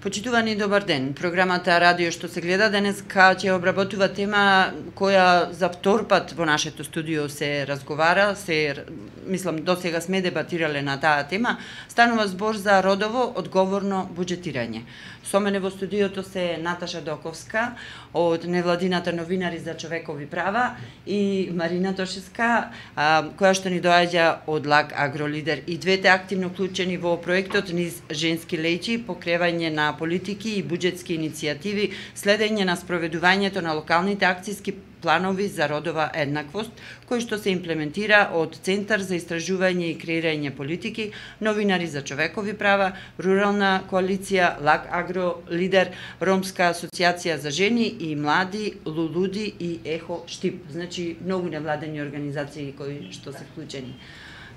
Почитувани добар ден. Програмата Радио што се гледа денеска ќе обработува тема која за втор пат во нашето студио се разговара, мислам досега сме дебатирале на таа тема. Станува збор за родово одговорно буџетирање. Со мене во студиото се Наташа Доковска од невладината Новинари за човекови права и Марина Тошевска, која што ни доаѓа од ЛАК Агролидер. И двете активно вклучени во проектот низ женски леќи, покревање на политики и буџетски иницијативи, следење на спроведувањето на локалните акцијски планови за родова еднаквост, кој што се имплементира од Центар за истражување и креирање политики, Новинари за човекови права, Рурална коалиција, ЛАК Агролидер, Ромска асоциација за жени и млади, Лулуди и Ехо Штип. Значи, многу невладени организации кои што се вклучени.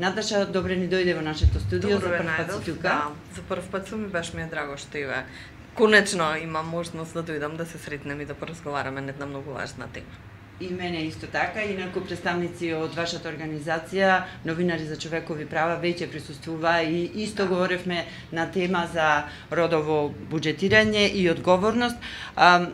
Наташа, добре ни дојде во нашето студио. Добре, за прв пат си тука. Да, за прв пат сум и баш ми е драго што и конечно имам можност да дојдам да се сретнем и да поразговараме на една многу важна тема. И мене исто така, инаку представници од вашата организација, Новинари за човекови права, веќе присуствува и исто говоревме на тема за родово буџетирање и одговорност.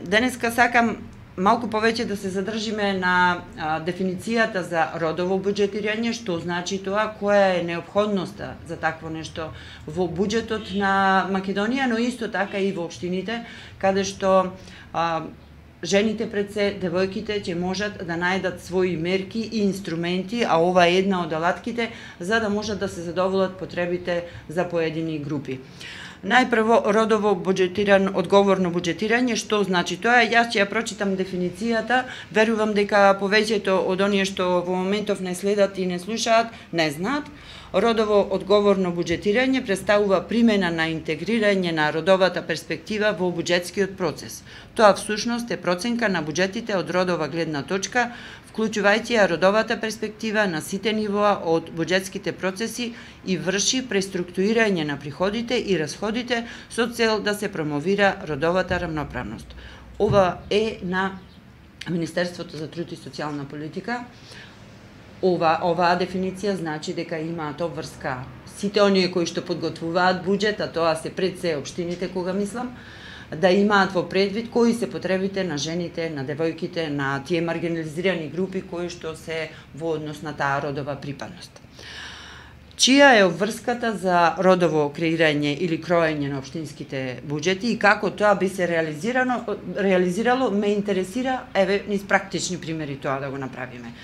Денеска сакам малку повеќе да се задржиме на дефиницијата за родово буџетирање, што значи тоа, која е неопходноста за такво нешто во буџетот на Македонија, но исто така и во општините, каде што жените пред се, девојките ќе можат да најдат своји мерки и инструменти, а ова е една од алатките, за да можат да се задоволат потребите за поедини групи. Најпрво, родово одговорно буџетирање, што значи тоа? Јас ќе ја прочитам дефиницијата, верувам дека повеќето од оние што во моментов не следат и не слушаат, не знаат. Родово одговорно буџетирање представува примена на интегрирање на родовата перспектива во буџетскиот процес. Тоа всушност е проценка на буџетите од родова гледна точка, вклучувајќи ја родовата перспектива на сите нивоа од буџетските процеси и врши преструктурирање на приходите и расходите со цел да се промовира родовата рамноправност. Ова е на Министерството за труд и социјална политика. Оваа дефиниција значи дека имаат обврска сите оние кои што подготвуваат буџет, а тоа се пред се општините, кога мислам, да имаат во предвид кои се потребите на жените, на девојките, на тие маргинализирани групи кои што се во однос на таа родова припадност. Чија е обврската за родово креирање или кроење на општинските буџети и како тоа би се реализирало, ме интересира, низ практични примери тоа да го направиме.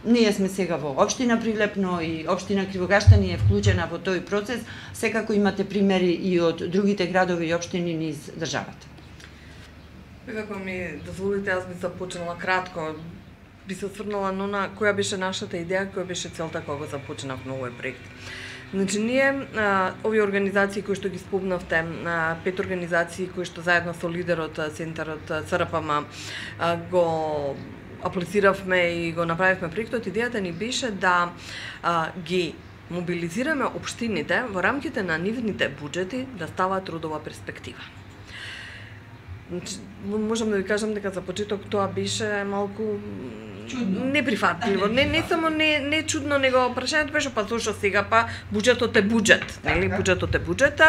Ние сме сега во општина Прилепно и општина Кривограштани е вклучена во тој процес. Секако имате примери и од другите градови и општини низ државата. Како ми дозволите, јас би започнала кратко. Би се осврнала на која беше нашата идеја, која беше целта кога започнавме овој проект. Значи, ние, овие организации кои што ги спомнавте, 5 организации кои што заедно со лидерот, Центарот ЦРПМ, го аплициравме и го направивме проектот, идејата ни беше да ги мобилизираме општините во рамките на нивните буџети да стават родова перспектива. Значи, можам да ви кажам дека за почеток тоа беше малку чудно, неприфатливо. Не само не чудно, него прашањето беше па зошто сега буџетот е буџет, нели? Буџетот е буџет.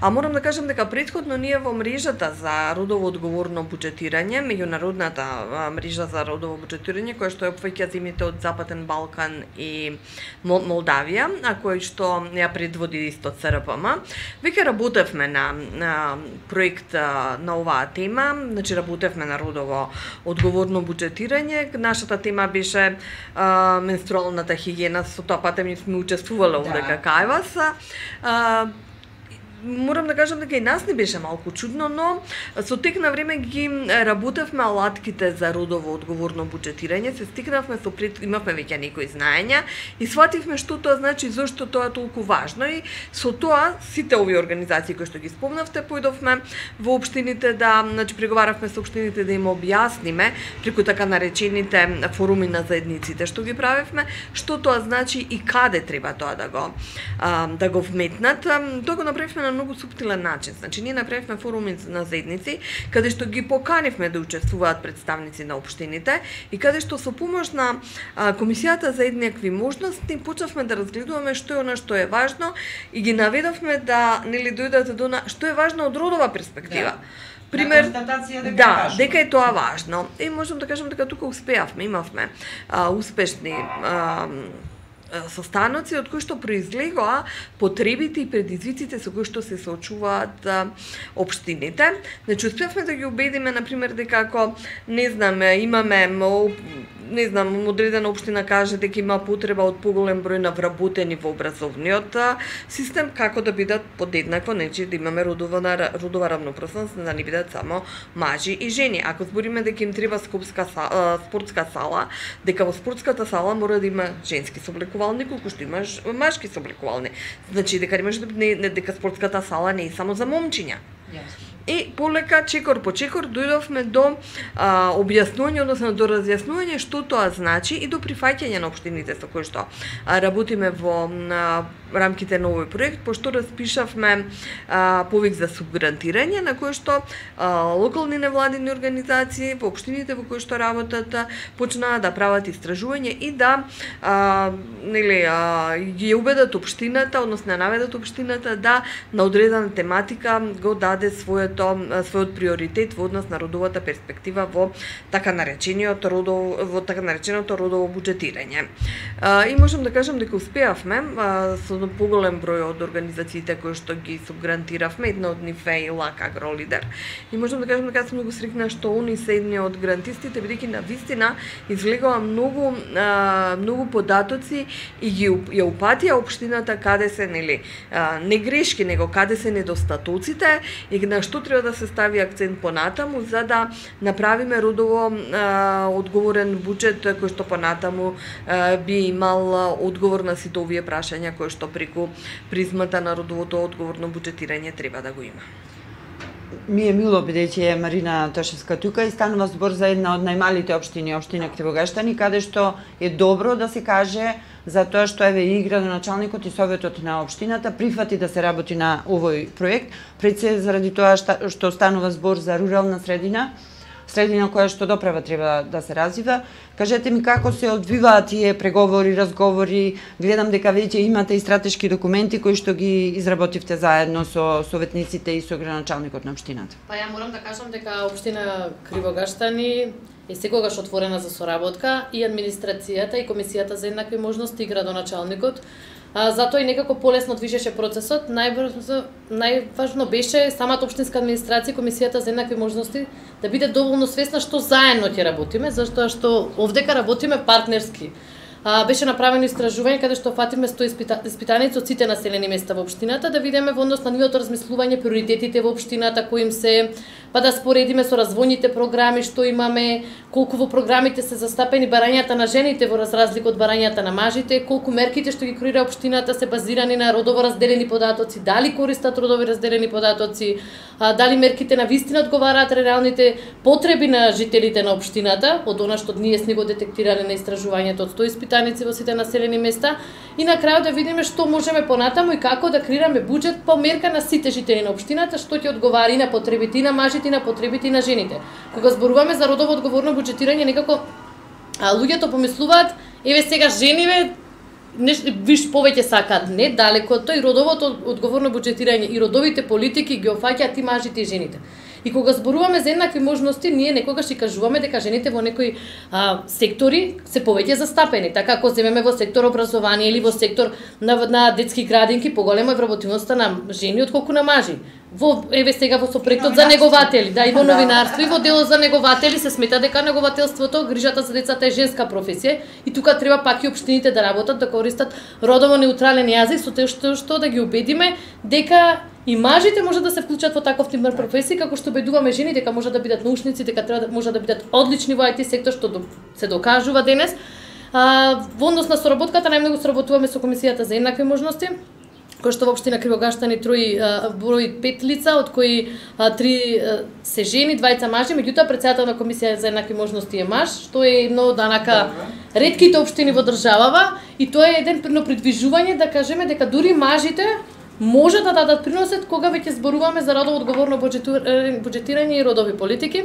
А морам да кажам дека претходно ние во мрежата за родово одговорно буџетирање, меѓународната мрежа за родово буџетирање, која што опфаќа земјите од Западен Балкан и Молдавија, а кој што ја предводи исто ЦРПМ, веќе работевме на проект на оваа тема, значи работевме на родово одговорно буџетирање. Нашата тема беше менструалната хигиена, со тоа патем сме учествувале овде кај вас. Морам да кажам дека и нас не беше малку чудно, но со тек на време ги работевме алатките за родово одговорно буџетирање, се стигнавме имавме веќе некои знаења и свативме што тоа значи, зошто тоа е толку важно и со тоа сите овие организации кои што ги спомнавте појдовме во општините значи преговаравме со општините да им објасниме преку така наречените форуми на заедниците што ги правевме, што тоа значи и каде треба тоа да го вметнат. Тоа го направивме на многу суптилен начин. Значи ние направивме форуми на заедници каде што ги поканивме да учествуваат представници на општините и каде што со помош на комисијата за еднакви можности почнавме да разгледуваме што е она што е важно и ги наведовме да нели дојдат до што е важно од родова перспектива. Пример, дека е тоа важно. И можам да кажам дека тука успеавме, имавме успешни состаноци од кои што произлегоа потребите и предизвиците со кои што се соочуваат општините. Значи успеавме да ги убедиме на пример дека ако имаме одредена општина каже дека има потреба од поголем број на вработени во образовниот систем, како да бидат подеднакво, значи да имаме родова равноправност, да не бидат само мажи и жени. Ако збориме дека им треба спортска сала, дека во спортската сала мора да има женски сооблекувални, колку што има машки сооблекувални. Значи дека дека спортската сала не е само за момчиња. И полека, чекор по чекор, дојдовме до објаснување, односно до разјаснување што тоа значи и до прифаќање на општините со кои што работиме во рамките на овој проект, пошто распишавме повик за субгрантирање на кој што локални невладини организации во општините во кои што работат почнаа да прават истражување и да ги убедат општината, односно наведат општината да на одредена тематика го даде својот приоритет во однос на родовата перспектива во така нареченото родово буџетирање. И можам да кажам дека успеавме со поголем број од организациите кои што ги субгрантиравме, една од нив е и ЛАК Агролидер. И можам да кажам дека сум многу среќна што они се едни од грантистите, бидејќи навистина излегоа многу податоци и ја упатија општината каде се не грешки, него каде се недостатоците и на што треба да се стави акцент понатаму за да направиме родово одговорен буџет кој што понатаму би имал одговор на сите овие прашања кои што преку призмата на родовото одговорно буџетирање треба да го има. Ми е мило бидејќи е Марина Тошевска тука и станува збор за една од најмалите општини, општина Кривогаштани, каде што е добро да се каже за тоа што еве и градоначалникот и советот на општината прифати да се работи на овој проект, пред се заради тоа што станува збор за рурална средина која што доправа треба да се развива. Кажете ми како се одвиваат тие преговори, разговори, гледам дека веќе имате и стратешки документи кои што ги изработивте заедно со советниците и со градоначалникот на општината. Па ја морам да кажам дека општина Кривогаштани е секогаш отворена за соработка и администрацијата и комисијата за еднакви можности и градоначалникот. Затоа и некако полесно движеше процесот. Најважно беше самата општинска администрација и комисијата за еднакви можности да биде доволно свесна што заедно ќе работиме, затоа што овдека работиме партнерски. Беше направено истражување каде што фатиме 100 испитаници од сите населени места во општината да видиме во однос на нивото размислување приоритетите во општината кои им се, па да споредиме со развојните програми што имаме, колку во програмите се застапени барањата на жените во разлика од барањата на мажите, колку мерките што ги креира општината се базирани на родово разделени податоци, дали користат родови разделени податоци, дали мерките на вистина одговараат реалните потреби на жителите на општината, од она што ние сме го детектирале на истражувањето од 100 испитаници во сите населени места и на крајот да видиме што можеме понатаму и како да креираме буџет по мерка на сите жители на општината што ќе одговара и на потребите и на мажите и на потребите и на жените. Кога зборуваме за родово одговорно буџетирање, некако луѓето помислуваат, еве сега жениве виш повеќе сакаат, не далеко од тоа и родовото одговорно буџетирање и родовите политики ги опфаќаат и мажите и жените. И кога зборуваме за еднакви можности, ние некогаш и кажуваме дека жените во некои сектори се повеќе застапени. Така ако земеме во сектор образование или во сектор на детски градинки, поголема е вработивноста на жени отколку на мажи. Еве сега во сопроектот за негователи, и во новинарство и во делот за негователи се смета дека негователството, грижата за децата е женска професија и тука треба пак и општините да работат, да користат родово неутрален јазик со тоа што да ги убедиме дека и мажите може да се вклучат во таков тип професии, како што убедуваме жени дека може да бидат научници, дека може да бидат одлични во IT сектор, што се докажува денес. Во однос на соработката најмногу соработуваме со комисијата за еднакви можности, кој што во општина Кривогаштани брои 5 лица, од кои 3 се жени, 2 мажи, меѓутоа председател на комисија за еднакви можности е маж, што е едно од ретките општини во државава и тоа е едно придвижување да кажеме дека дури мажите може да дадат приносет кога веќе зборуваме за родово одговорно буџетирање и родови политики.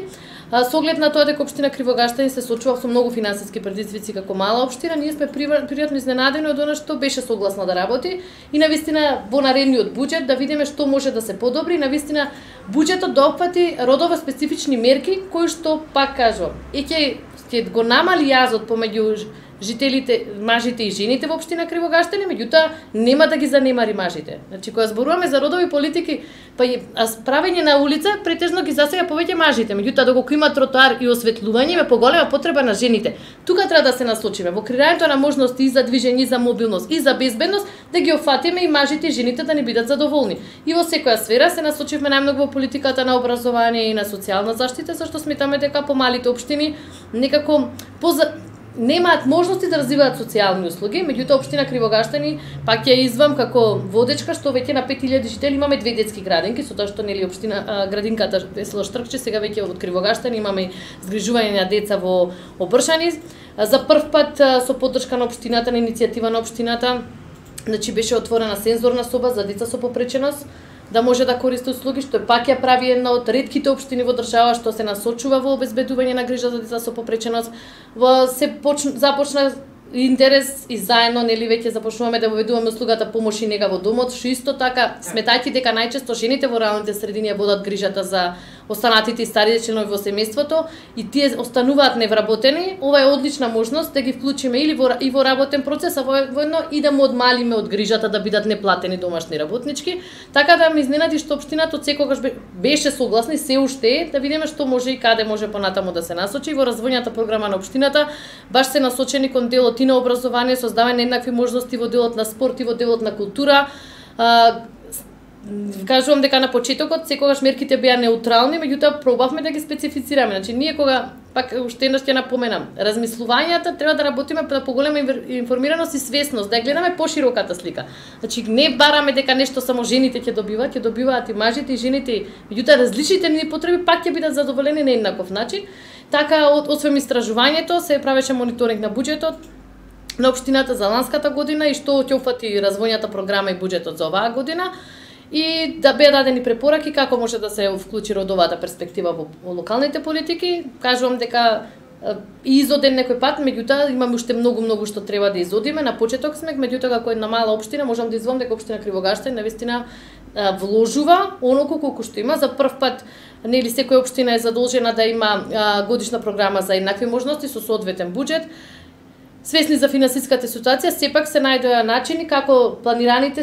Со оглед на тоа дека општина Кривогаштани се соочува со многу финансиски предизвици како мала општина, ние сме пријатно изненадени од она што беше согласна да работи и навистина во наредниот буџет да видиме што може да се подобри, навистина буџетот да опфати родово специфични мерки кои што пак кажувам, ќе го намали јазот помеѓу жителите, мажите и жените во општина Кривогаштани, меѓутоа нема да ги занемари мажите. Значи кога зборуваме за родови политики, па правење на улица претежно ги засега повеќе мажите, меѓутоа доколку има тротоар и осветлување, има поголема потреба на жените. Тука треба да се насочиме во креирањето на можности и за движење, и за мобилност, и за безбедност, да ги офатиме и мажите и жените да не бидат задоволни. И во секоја сфера се насочивме најмногу во политиката на образование и на социјална заштита, зашто сметаме дека помалите општини некако немаат можности да развиваат социјални услуги, меѓутоа општина Кривогаштани пак ја извам како водечка што веќе на 5000 жители имаме 2 детски градинки, со тоа што нели општина градинката село Штркче сега веќе од Кривогаштани имаме згрижување на деца во Обршани. За прв пат со поддршка на општината, на иницијатива на општината, значи беше отворена сензорна соба за деца со попреченост да може да користи услуги, што пак ја прави една од ретките општини во држава што се насочува во обезбедување на грижа за деца со попреченост. Започна интерес и заедно нели веќе започнуваме да воведуваме услугата помош и нега во домот, што исто така сметајќи дека најчесто жените во руралните средини ја водат грижата за останатите и старите членови во семејството и тие остануваат невработени. Ова е одлична можност да ги вклучиме или во работен процес, а воедно и да му одмалиме од грижата да бидат неплатени домашни работнички. Така да ме изненади што општината од секогаш беше согласна и се уште е, да видиме што може и каде може понатаму да се насочи. Во развојната програма на општината баш се насочени кон делот и на образование, создавање на еднакви можности во делот на спорт и во делот на култура. Кажувам дека на почетокот секогаш мерките беа неутрални, меѓутоа пробавме да ги специфицираме. Значи ние кога пак уште еднаш ќе напоменам, размислувањата треба да работиме за поголема информираност и свесност, да ја гледаме пошироката слика. Значи не бараме дека нешто само жените ќе добиваат и мажите и жените, меѓутоа различните ни потреби пак ќе бидат задоволени на еднаков начин. Така освен истражувањето се правеше мониторинг на буџетот на општината за ланската година и што ќе упати развојната програма и буџетот за оваа година. И да беа дадени препораки како може да се вклучи родовата перспектива во локалните политики. Кажувам дека изоден некој пат, меѓутоа имаме уште многу што треба да изодиме. На почеток сме, меѓутоа како една мала општина можам да извам дека општина Кривогаштани навистина вложува оноку колку што има. За прв пат нели секоја општина е задолжена да има годишна програма за еднакви можности со соодветен буџет. Свесни за финансиската ситуација, сепак се најдоа начини како планираните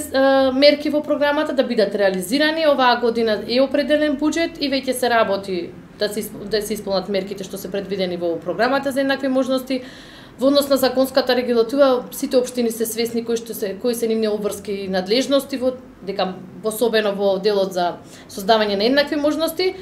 мерки во програмата да бидат реализирани. Оваа година е определен буџет и веќе се работи да се исполнат мерките што се предвидени во програмата за еднакви можности. Во однос на законската регулатива, сите општини се свесни кои се нивни обврски и надлежности дека особено во делот за создавање на еднакви можности.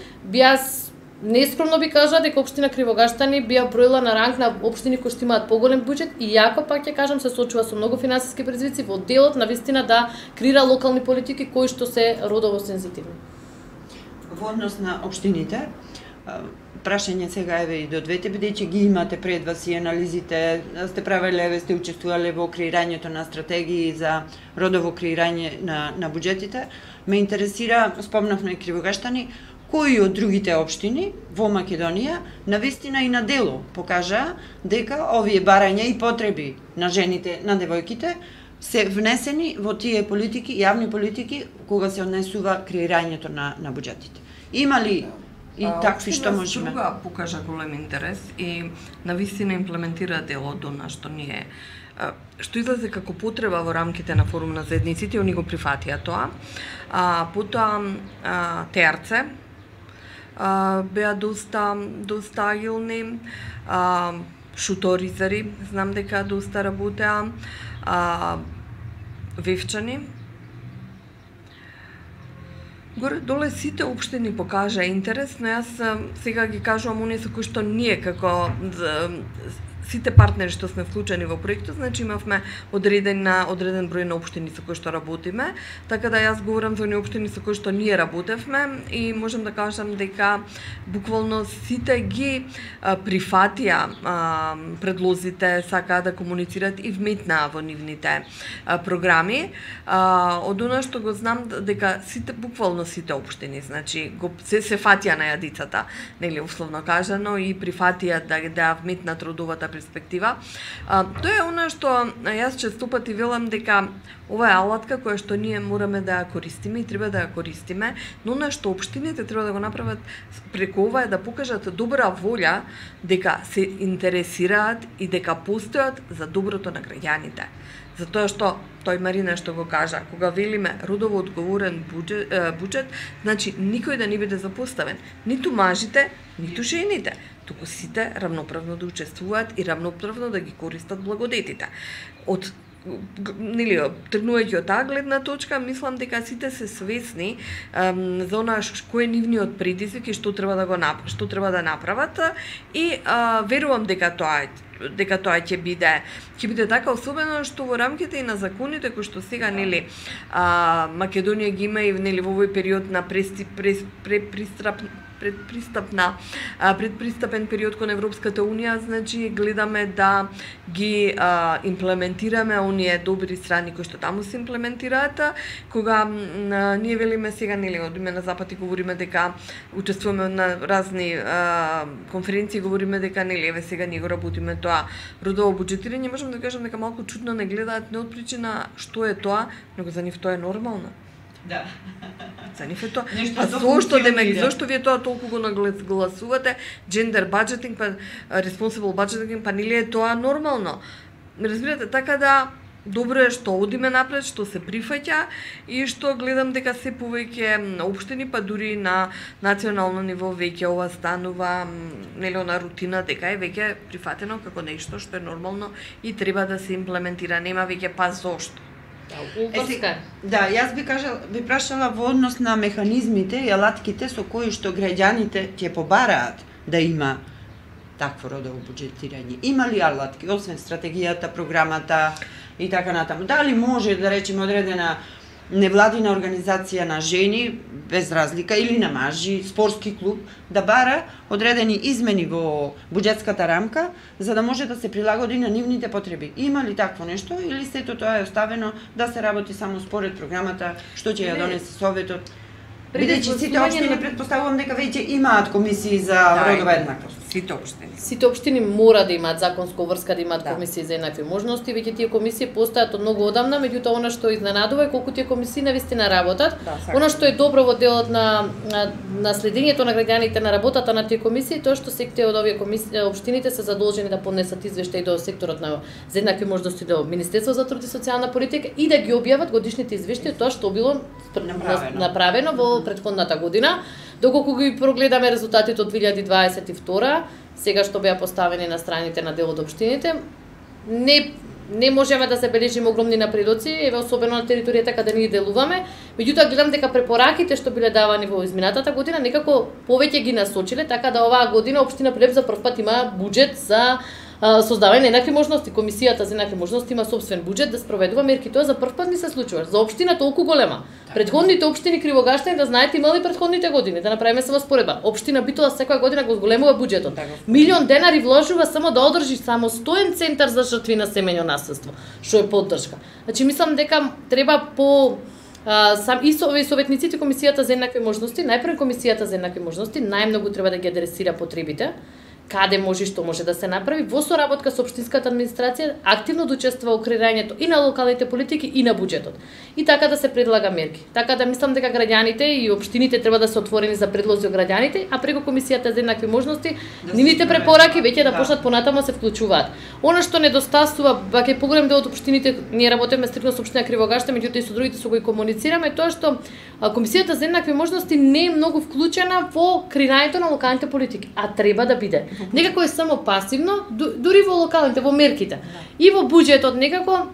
Нескромно би кажа дека општина Кривогаштани би ја броила на ранг на општини кои што имаат поголем буџет и јако пак ќе кажам се соочува со многу финансиски предизвици во делот на вистина да креира локални политики кои што се родово сензитивни. Во однос на општините, прашање сега еве и до двете, бидејќи ги имате пред вас и анализите, сте правеле, сте учествувале во креирањето на стратегии за родово креирање на буџетите, ме интересира, спомнавме Кривогаштани, кои од другите општини во Македонија навистина и на дело покажа дека овие барања и потреби на жените, на девојките се внесени во тие политики, јавни политики кога се однесува креирањето на буџетите. Има ли и такви што можеме? Друга покажа голем интерес и навистина имплементира делото на што ние што излезе како потреба во рамките на форум на заедниците, они го прифатија тоа. Потоа ТРЦ беа доста агилни, шуторизари, знам дека доста работеа, вевчани. Горе-доле сите општини покажа интерес, но јас сега ги кажувам оние со кои што ние како сите партнери што сме вклучени во проектот, значи имавме одреден број на општини со кои што работиме, така да јас говорам за оние општини со кои што ние работевме и можам да кажам дека буквално сите ги прифатија предлозите, сакаа да комуницираат и вметнаа во нивните програми. Од она што го знам дека сите, буквално сите општини, значи се фатија на јадицата, нели условно кажано, и прифатија да вметнат родовата перспектива. Тоа е она што јас често пати велам дека ова е алатка која што ние мораме да ја користиме и треба да ја користиме, но она што општините треба да го направат преку ова е да покажат добра волја дека се интересираат и дека постојат за доброто на граѓаните. Затоа што тој Марина што го кажа, кога велиме родово одговорен буџет, значи никој да не биде запоставен, ниту мажите, ниту жените, туку сите равноправно да учествуваат и равноправно да ги користат благодетите. Од тргнувајќи од таа гледна точка, мислам дека сите се свесни за она кој е нивниот предизвик и што треба да направат и верувам дека тоа ќе биде така, особено што во рамките и на законите кои што сега нели Македонија ги има и нели во овој период на предпристапен период кон Европската Унија, значи гледаме да ги имплементираме оние добри страни кои што таму се имплементираат, кога ние велиме сега нели од име на Запад и говориме дека учествуваме на разни конференции, говориме дека нели еве сега ние го работиме тоа родово буџетирање, можам да кажам дека малку чудно не гледаат не од причина што е тоа, него за нив тоа е нормално. Да. За нив е тоа. Зошто вие тоа толку го нагласувате, gender budgeting, па responsible budgeting, па нели е тоа нормално? Разбирате, така да добро е што одиме напред, што се прифаќа и што гледам дека се повеќе општини, па дури на национално ниво веќе ова станува нели на рутина, дека е веќе прифатено како нешто што е нормално и треба да се имплементира, нема веќе па зошто. Да, јас би прашала во однос на механизмите и алатките со кои што граѓаните ќе побараат да има такво родово буџетирање. Има ли алатки, освен стратегијата, програмата и така натаму? Дали може да речеме одредена невладина организација на жени, без разлика, или на мажи, спортски клуб, да бара одредени измени во буџетската рамка, за да може да се прилагоди на нивните потреби? Има ли такво нешто, или сето тоа е оставено да се работи само според програмата, што ќе ја донесе Советот? Бидејќи сите општини претпоставувам дека веќе имаат комисии за родова еднаквост. Сите општини мора да имаат законско врска да имаат комисии за еднакви можности, веќе тие комисии постојат од многу одамна, меѓутоа она што изненадува е колку тие комисии навистина работат. Она што е добро во делот на следењето на граѓаните на работата на тие комисии, тоа што сите од овие комисии општините се задолжени да поднесат извештаи до секторот на за еднакви можности до Министерство за труд и социјална политика и да ги објават годишните извештаи тоа што било направено во претходната година. Доколку ги прогледаме резултатите од 2022, сега што беа поставени на страните на дел од општините, не можеме да забележиме огромни напредоци, еве особено на територијата каде ние делуваме, меѓутоа гледам дека препораките што биле давани во изминатата година некако повеќе ги насочиле, така да оваа година општина Прилеп за прв пат има буџет за создавање на еднакви можности. Комисијата за еднакви можности има собствен буџет да спроведува мерки. Тоа за прв пат ми се случува. За општина толку голема. Предходните општини Кривограштани, да знаете, имали предходните години, да направиме само споредба. Општина Битола секоја година го зголемува буџетот. Милион денари вложува само да одржи самостоен центар за жртви на семејно наследство, што е поддршка. Значи мислам дека треба по и советниците комисијата за еднакви можности, најпрво комисијата за еднакви можности најмногу треба да ги адресира потребите, каде може и што може да се направи во соработка со општинската администрација, активно да учествува во креирањето и на локалните политики и на буџетот. И така да се предлага мерки. Така да мислам дека граѓаните и општините треба да се отворени за предлози од граѓаните, а преку комисијата за еднакви можности, нивните препораки веќе да почнат понатаму се вклучуваат. Она што недостасува, ваќе поголем дел од општините, ние работиме стрикно со општина Кривограштани, меѓутоа и со другите со кои комуницираме, тоа што комисијата за еднакви можности не е многу вклучена во креирањето на локалните политики, а треба да биде. Некако е само пасивно, дури во локалните, во мерките. И во буџетот некако,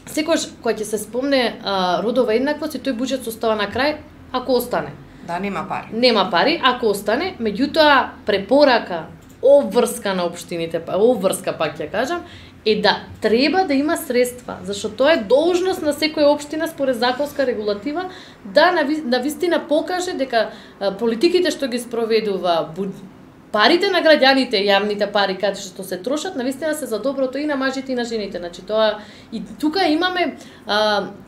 секојаш кога ќе се спомне родова еднаквост, и тој буџет остава на крај, ако остане. Да, нема пари. Нема пари, ако остане, меѓутоа препорака обврска на општините, обврска пак ќе кажам, е да треба да има средства, зашто тоа е должност на секоја општина според законска регулатива да навистина покаже дека политиките што ги спроведува, парите на граѓаните, јавните пари каде што се трошат, навистина се за доброто и на мажите и на жените. Значи тоа и тука имаме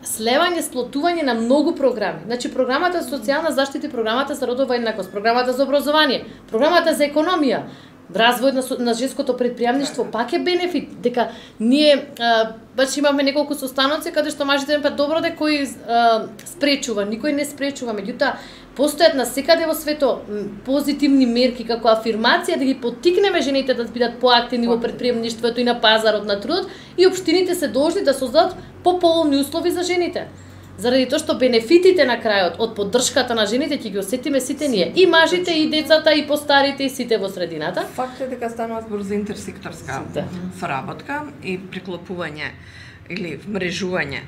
слевање, сплотување на многу програми. Значи програмата за социјална заштита, програмата за родова еднаквост, програмата за образование, програмата за економија, развој на женското предприемништво, пак е бенефит, дека ние баш имаме неколку состаноци каде што мажите па добро дека кој спречува, никој не спречува, меѓутоа постојат насекаде во свето позитивни мерки како афирмација да ги поттикнеме жените да бидат поактивни во предприемништвото и на пазарот на трудот и општините се должни да создадат пополни услови за жените. Заради тоа што бенефитите на крајот од поддршката на жените ќе ги осетиме сите ние, и мажите, и децата, и постарите, и сите во средината. Факт е дека станува збор за интерсекторска соработка и приклопување или вмрежување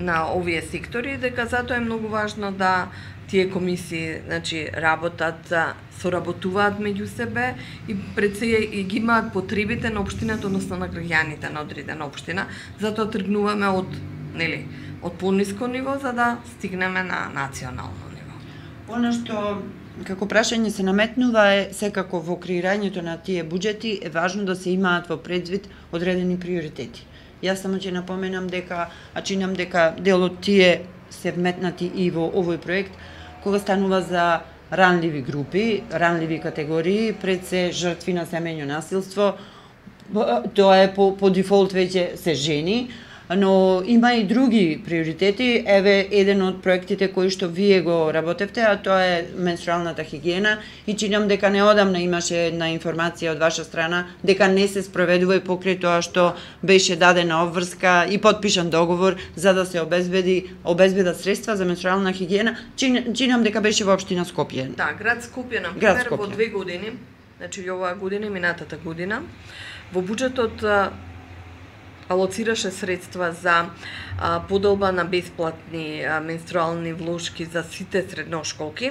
на овие сектори, дека затоа е многу важно да тие комисии, значи, работат, соработуваат меѓу себе и пред се и ги имаат потребите на општината, односно на граѓаните на одредена општина, затоа тргнуваме од, нели, од пониско ниво за да стигнеме на национално ниво. Она што како прашање се наметнува е секако во креирањето на тие буџети е важно да се имаат во предвид одредени приоритети. Јас само ќе напоменам дека, чинам дека дел од тие се вметнати и во овој проект, кога станува за ранливи групи, ранливи категории, пред се жртви на семејно насилство, тоа е по дефолт веќе се жени, но има и други приоритети. Еве еден од проектите кои што вие го работевте, а тоа е менструалната хигиена, и чинам дека неодамна имаше една информација од ваша страна дека не се спроведува и покрај тоа што беше дадена обврска и потпишан договор за да се обезбедат средства за менструална хигиена. Чинам дека беше во општина Скопје. Да, град Скопје, на пример, во 2 години, значи оваа година и минатата година, во буџетот алоцираше средства за поделба на бесплатни менструални влошки за сите средношколки,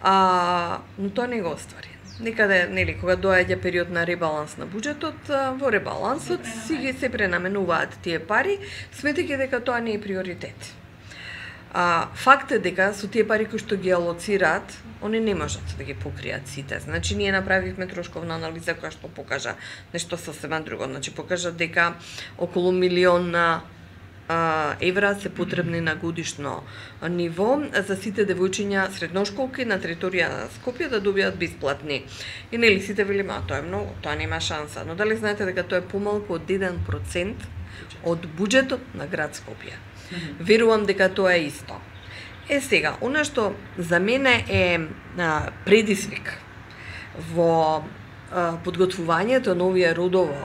но тоа не го оствари. Некаде, нели, кога доаѓа период на ребаланс на буџетот, во ребалансот си се пренаменуваат тие пари, сметајќи дека тоа не е приоритет. Факт е дека со тие пари кои што ги алоцираат, они не можат да ги покријат сите. Значи, ние направивме трошковна анализа која што покажа нешто сосема друго. Значи, покажа дека околу 1 милион евра се потребни на годишно ниво за сите девојчиња средношколки на територија на Скопје да добијат бесплатни. И нели сите велиме, тоа е многу, тоа нема шанса. Но дали знаете дека тоа е помалку од 1% од буџетот на град Скопје? Верувам дека тоа е исто. Сега, она што за мене е предизвик во подготвувањето на овие родово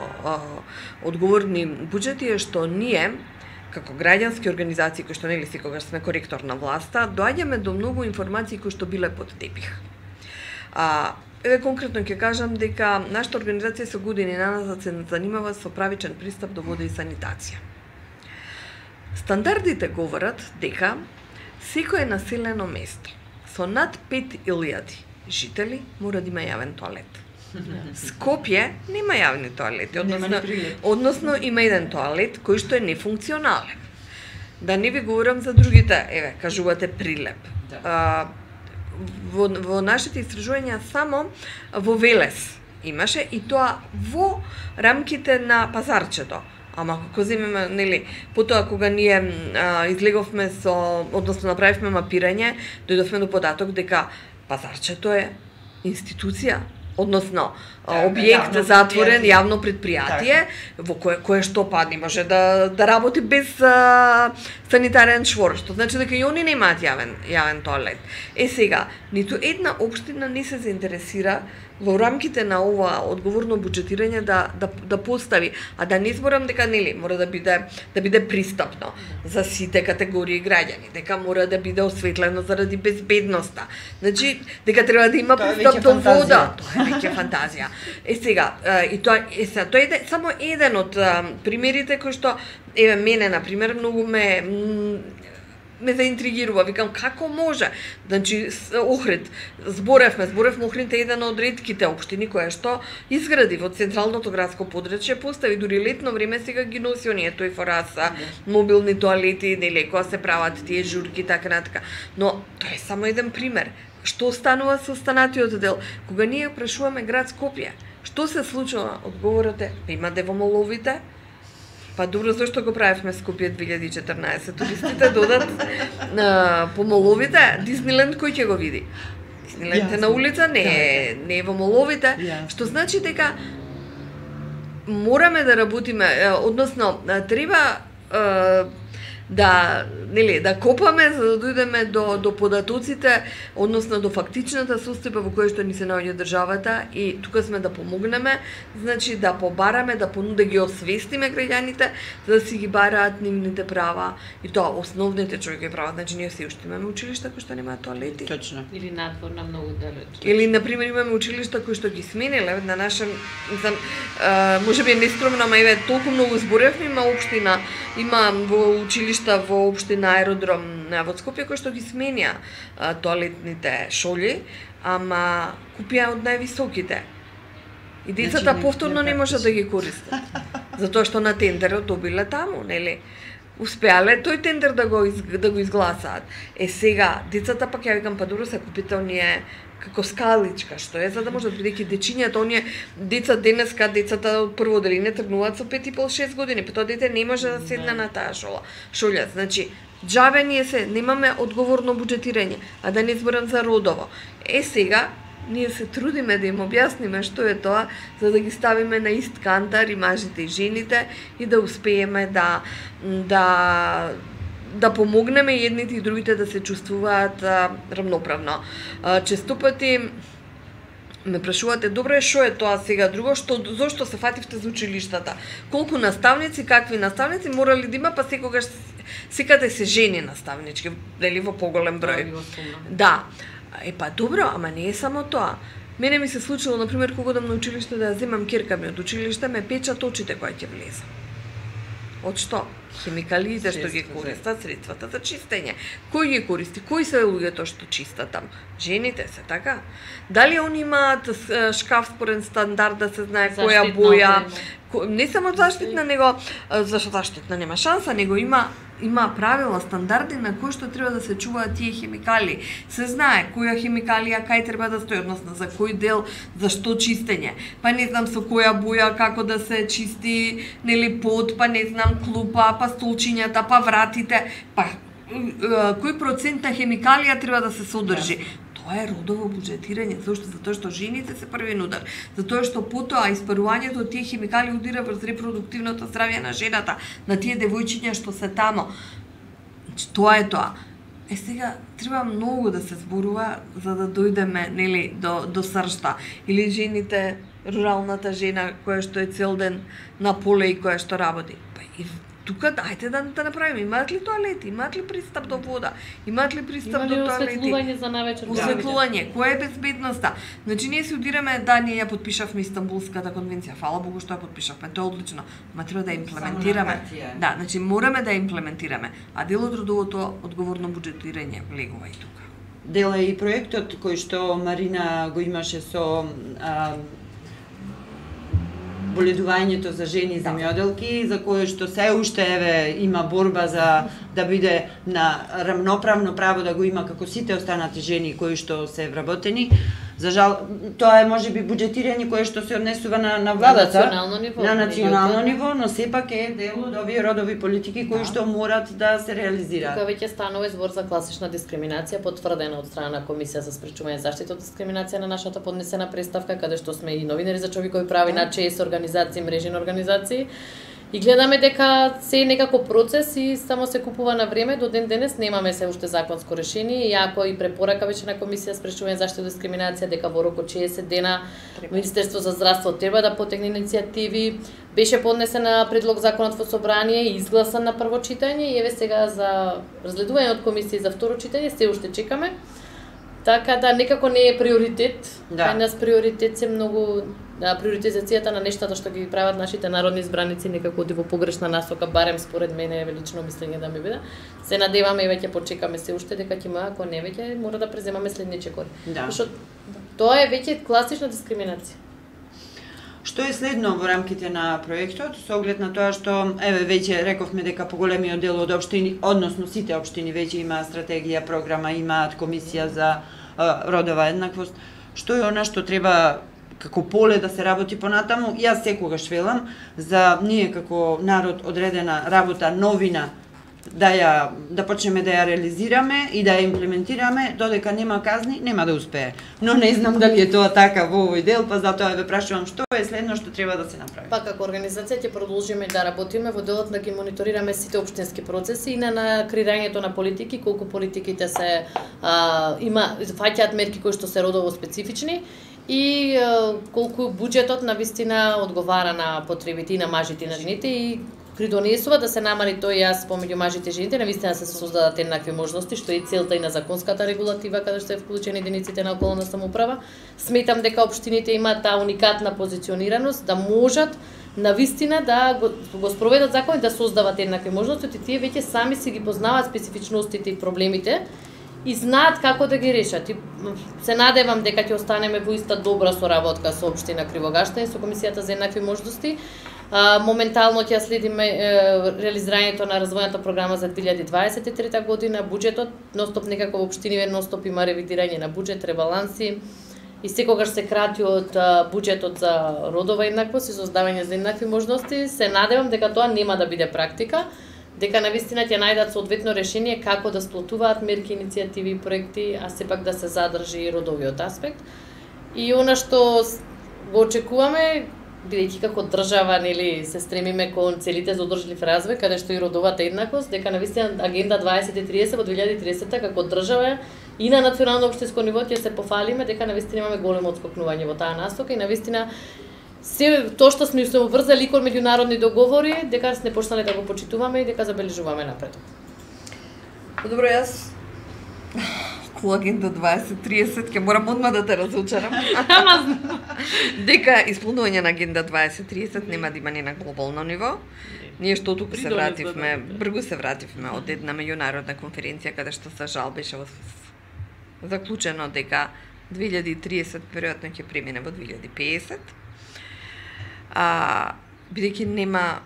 одговорни буџети е што ние, како граѓански организации кои што нели секогаш сме коректор на власта, доаѓаме до многу информации кои што биле под тепих. Еве конкретно ќе кажам дека нашата организација со години наназад се занимава со правичен пристап до вода и санитација. Стандардите говорат дека секое населено место со над 5000 жители мора да има јавен тоалет. Скопје нема јавни тоалети, односно има еден тоалет кој што е нефункционален. Да не ви говорам за другите, еве, кажувате Прилеп. Во нашите истражувања само во Велес имаше, и тоа во рамките на пазарчето. Ама како земеме, нели, потоа кога ние излеговме со, односно направивме мапирање, дојдовме до податок дека пазарчето е институција, односно објект затворен, јавно предпријатие, во кое што не може да работи без санитарен чвор, што значи дека и они немаат јавен тоалет. Сега, ниту една општина не се заинтересира во рамките на ова одговорно буџетирање да постави, а да не зборам дека нели мора да биде пристапно за сите категории граѓани, дека мора да биде осветлено заради безбедноста. Значи дека треба да има пристап до вода, тоа е веќе фантазија. Сега, тоа е само еден од примерите кои што еве мене на пример многу ме заинтригирува, викам како може. Значи Охрид, зборевме Охрид е еден од ретките општини која што изгради во централното градско подрачје, постави дури летно време сега ги носи оние тој фораса, мобилни тоалети, нели, кога се прават тие журки така натака. Но тоа е само еден пример. Што станува со останатиот дел? Кога ние прашуваме град Скопје, што се случува? Одговорот е, има девомоловите. Па добро, зашто го правевме Скопје 2014? Туристите додат по моловите, Дисниленд кој ќе го види? Дисниленд е на улица, не е во моловите, што значи дека мораме да работиме, односно треба да копаме за да дојдеме до податоците, односно до фактичната состојба во која што ни се наоѓа државата и тука сме да помогнеме, значи да побараме, да ги освестиме граѓаните за да си ги бараат нивните права и тоа основните човекови права, значи ние се уште имаме училишта кои што немаат тоалети. Точно. Или надвор на многу далеч. Или на пример имаме училишта кои што ги смениле на наша, можеби нескромно, ама еве толку многу зборевме, има општина, има во училишта во општина Аеродром во Скопје кои што ги сменија тоалетните шолји, ама купија од највисоките. И децата повторно не можат да ги користат. Затоа што на тендерот добиле таму, нели? Успеале тој тендер да го изгласаат. Сега децата пак ја викам, па добро се купите оние како скаличка, што е, за да можат бидејќи дечињата, оние деца денеска, децата од прво деление тргнуваат со 5,5-6 години, па тоа дете не може да седне на таа шолја. Значи, џабе ние немаме одговорно буџетирање, а да не зборам за родово. Сега, ние се трудиме да им објасниме што е тоа, за да ги ставиме на ист кантар и мажите и жените и да успееме да помогнеме едните и другите да се чувствуваат равноправно. Често пати ме прашувате, добро е, што е тоа сега друго, зошто се фативте за училиштата? Колку наставници, какви наставници морали да има, па секогаш секаде се жени наставнички, дали во поголем број. Да. Па добро, ама не е само тоа. Мене ми се случило, например, кога одам на училиште да ја земам керка ми од училиште, ме печат очите која ќе влезам. Од што? Хемикалиите што ги користат, средствата за чистење. Кој ги користи? Кои се луѓето што чистат там? Жените се, така? Дали они имаат шкаф според стандард да се знае која боја? Не само заштитна, него зашто заштитна нема шанса, него има правила, стандарди на кои што треба да се чуваат тие хемикали. Се знае која хемикалија кај треба да стои, односно за кој дел, за што чистење. Па не знам со која боја како да се чисти, нели под, па не знам клупа, па столчињата, па вратите, па кој процент на хемикалија треба да се содржи. Тоа е родово буџетирање, зашто? Затоа што жените се првен удар, затоа што потоа испарувањето од тие хемикали удира врз репродуктивното здравје на жената, на тие девојчиња што се тамо. Тоа е тоа. Сега треба многу да се зборува за да дојдеме, нели, до сршта. Или жените, руралната жена која што е цел ден на поле и која што работи. Па и тука дајте да направиме. Имаат ли тоалети? Имаат ли пристап до вода? Имаат ли пристап до тоалети? Осветлување за навечер? Осветлување. Која е безбедноста? Значи ние се удираме, да, ние ја потпишавме Истанбулската конвенција. Фала Богу што ја потпишавме. Тоа е одлично. Ма треба да ја имплементираме. Да, значи мораме да ја имплементираме. А дел од родовото одговорно буџетирање влегува и тука. Дел е и проектот кој што Марина го имаше со боледувањето за жени земјоделки, за кое што се уште има борба за да биде на рамноправно право да го има како сите останати жени кои што се вработени. За жал, тоа е можеби буџетирање кое што се однесува на владата, на национално ниво, но сепак е дел од овие родови политики кои што морат да се реализираат. Тука веќе станува збор за класична дискриминација, потврдена од страна на Комисија за спречување заштита од дискриминација на нашата поднесена представка, каде што сме и новинари за човекови прави на 6 организации, мрежи на организации. И гледаме дека се некако процес и само се купува на време, до ден денес немаме се уште законско решение, иако и препорака веќе на Комисија спречување заштита од дискриминација дека во рок од 60 дена Министерство за здравство треба да потегне иницијативи. Беше поднесена предлог законот во собрание и изгласан на прво читање и еве сега за разгледување од Комисија за второ читање се уште чекаме. Така да некако не е приоритет. Да. Кај нас приоритет се многу приоритизацијата на нештата што ги прават нашите народни избраници некако оди во погрешна насока, барем според мене лично мислење да ми биде. Се надеваме и веќе почекаме се уште дека ќе има, ако не веќе мора да преземаме следни чекори. Што тоа е веќе класична дискриминација. Што е следно во рамките на проектот, со оглед на тоа што, еве, веќе рековме дека поголемиот дел од општини, односно сите општини веќе имаат стратегија, програма, имаат комисија за родова еднаквост. Што е она што треба како поле да се работи понатаму? Јас секогаш велам за ние како народ одредена работа, новина, да почнеме да ја реализираме и да ја имплементираме, додека нема казни, нема да успее. Но не знам дали е тоа така во овој дел, па затоа ве прашувам што е следно што треба да се направи. Па како организација ќе продолжиме да работиме во делот да ги мониторираме сите општински процеси и на креирањето на политики, колку политиките се фаќаат мерки кои што се родово специфични и колку буџетот на вистина одговара на потребите и на мажите и на жените и придонесува да се намали тој јас помеѓу мажите и жените, навистина се создадат еднакви можности, што е целта и на законската регулатива каде што е вклучени единиците на околна самоуправа. Сметам дека општините имаат таа уникатна позиционираност да можат навистина да го спроведат закон и да создават еднакви можности, и тие веќе сами си ги познаваат специфичностите и проблемите и знаат како да ги решат. И се надевам дека ќе останеме во иста добра соработка со општина Кривогаштани, со Комисијата за еднакви можности. Моментално ќе следиме реализирањето на развојната програма за 2023 година, буџетот, ностоп некако во општиниве ностоп има ревидирање на буџет, ребаланси и секогаш се крати од буџетот за родова еднаквост и создавање за еднакви можности. Се надевам дека тоа нема да биде практика, дека навистина ќе најдат соодветно решение како да сплотуваат мерки, иницијативи и проекти, а сепак да се задржи и родовиот аспект. И она што го очекуваме, бидејќи како држава нели се стремиме кон целите за одржлив развој, каде што и родовата еднаквост, дека навистина агенда 2030 во 2030 како држава и на национално општинско ниво ќе се пофалиме дека навистина имаме големо отскокнување во таа насока и навистина се тоа што сме се обврзали кон меѓународни договори, дека сме почнале да го почитуваме и дека забележуваме напредок. Добро, јас кон агенда 2030 ќе морам одма да те разучарам. Дека исполнување на агенда 2030 нема да има ни на глобално ниво. Ние што туку се вративме, бргу се вративме од една меѓународна конференција каде што за жал беше заклучено дека 2030 веројатно ќе премине во 2050. Бидејќи нема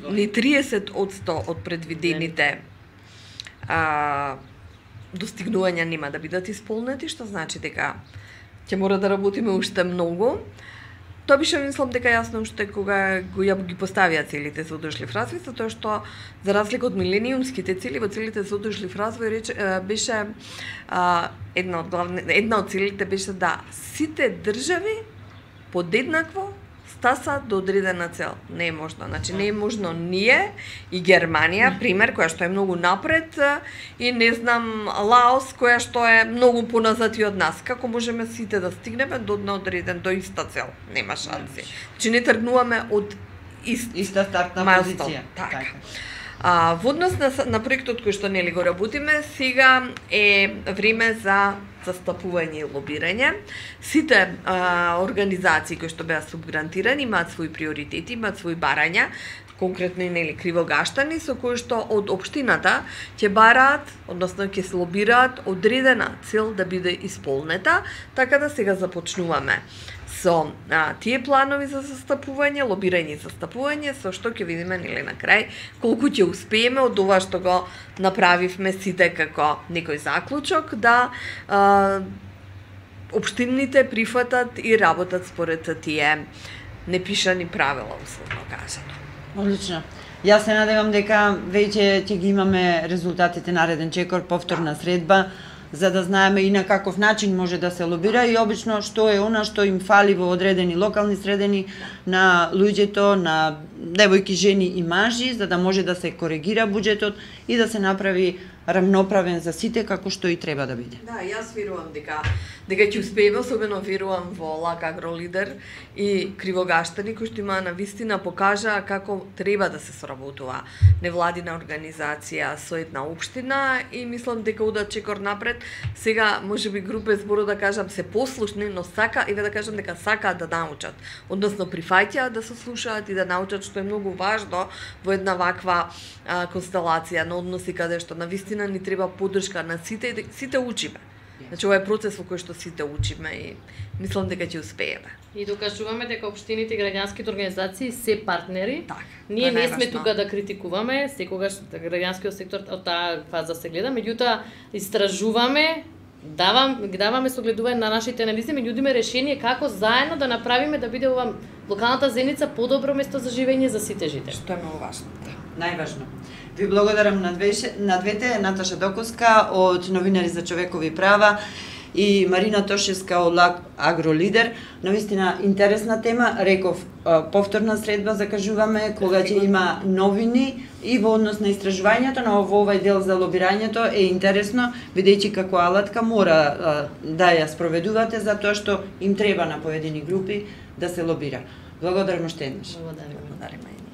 ни 30% од предвидените достигнувања нема да бидат исполнети, што значи дека ќе мора да работиме уште многу. Тоа беше мислам дека јасно уште кога ги поставија целите за одржлив развој, затоа што за разлика од милениумските цели, во целите за одржлив развој беше една од целите беше да сите држави подеднакво стаса до одредена цел. Не е можно. Значи не е можно ние и Германија, пример, која што е многу напред, и не знам Лаос, која што е многу поназад и од нас. Како можеме сите да стигнеме до иста цел? Нема шанси. Значи не тргнуваме од иста стартна позиција. Така. Во однос на проектот кој што нели го работиме, сега е време за застапување и лобирање. Сите организации кои што беа субгрантирани имаат своји приоритети, имаат своји барања, конкретно и нели Кривогаштани, со кои што од општината ќе бараат, односно ќе се лобираат одредена цел да биде исполнета, така да сега започнуваме со тие планови за застапување, лобирање и застапување, со што ќе видиме нели на крај колку ќе успееме од ова што го направивме сите како некој заклучок да општините прифатат и работат според тие непишани правила, условно кажано. Одлично. Јас се надевам дека веќе ќе ги имаме резултатите нареден чекор, повторна средба, за да знаеме и на каков начин може да се лобира и обично што е она што им фали во одредени локални средини на луѓето, на девојки, жени и мажи, за да може да се коригира буџетот и да се направи рамноправен за сите како што и треба да биде. Да, јас верувам дека ќе успееме, особено верувам во ЛАК Агролидер и Кривогаштани кои што има навистина покажа како треба да се соработува невладина организација со една општина и мислам дека удат чекор напред. Сега можеби група зборо да кажам се послушни, но сака и да кажам дека сакаат да научат, односно прифаќаат да се слушаат и да научат, што е многу важно во една ваква констелација на односи каде што навистина ни треба поддршка на сите и сите учиме. Значи ова е процес во кој што сите учиме и мислам дека ќе успееме. И докажуваме дека општините и граѓанските организации се партнери. Так, Ние не сме тука да критикуваме, секогаш граѓанскиот сектор од таа фаза се гледа, меѓутоа истражуваме, даваме согледување на нашите анализи, ми нудиме решение како заедно да направиме да биде ова локалната заедница подобро место за живење за сите жители. Што е многу важно. Најважно. Ви благодарам на двете, Наташа Доковска од Новинари за човекови права и Марина Тошевска од ЛАК Агролидер. Навистина интересна тема, реков повторна средба закажуваме кога ќе има новини и во однос на истражувањето, но во овој дел за лобирањето е интересно, бидејќи како алатка мора да ја спроведувате затоа што им треба на поедини групи да се лобира. Благодарам уште еднаш. Благодарам. Благодариме.